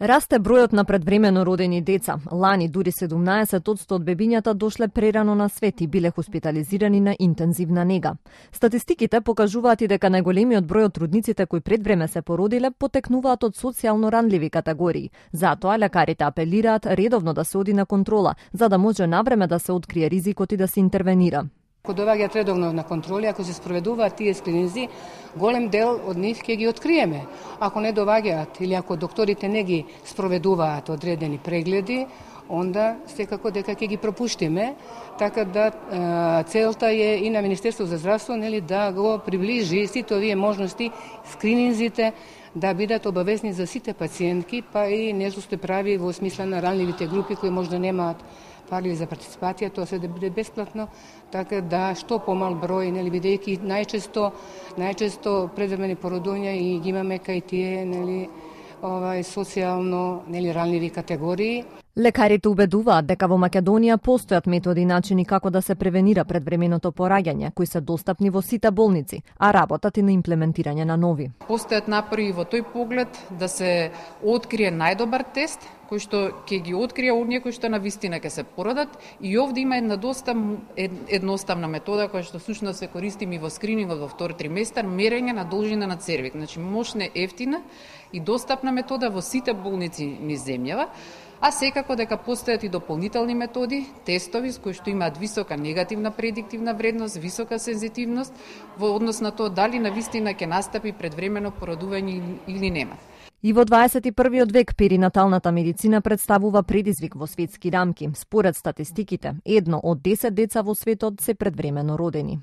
Расте бројот на предвремено родени деца. Лани дури 17% од бебињата дошле прерано на свет и биле хоспитализирани на интензивна нега. Статистиките покажуваат и дека најголемиот број од трудниците кои пред време се породиле потекнуваат од социјално ранливи категории. Затоа лекарите апелираат редовно да се оди на контрола, за да може навреме да се открие ризикот и да се интервенира. Ако доаѓаат редовно на контроли, ако се спроведуваат тие скрининзи, голем дел од нив ќе ги откриеме. Ако не доаѓаат или ако докторите не ги спроведуваат одредени прегледи, онда секако дека ќе ги пропуштиме, така да целта е и на Министерство за здравство да го приближи сите овие можности, скрининзите да бидат обавезни за сите пациентки, па и нешто се прави во смисла на ранливите групи кои можда немаат пари за партиципација, тоа се да биде бесплатно, така да што помал број, бидејќи најчесто предвремени породувања и ги имаме кај тие социјално ранливи категории. Лекарите убедуваат дека во Македонија постојат методи и начини како да се превенира предвременото пораѓање, кои се достапни во сите болници, а работат и на имплементирање на нови. Постојат напори во тој поглед да се открие најдобар тест, кој што ќе ги открие оние кои што навистина ќе се породат, и овде има една доста едноставна метода која што сушно се користим и во скринингот во втор триместар, мерење на должина на цервик. Значи мощна, ефтина и достапна метода во сите болници низ земјава. А секако дека постојат и дополнителни методи, тестови кои што имаат висока негативна предиктивна вредност, висока сензитивност во однос на тоа дали навистина ќе настапи предвремено породување или нема. И во 21. век перинаталната медицина представува предизвик во светски рамки. Според статистиките, 1 од 10 деца во светот се предвремено родени.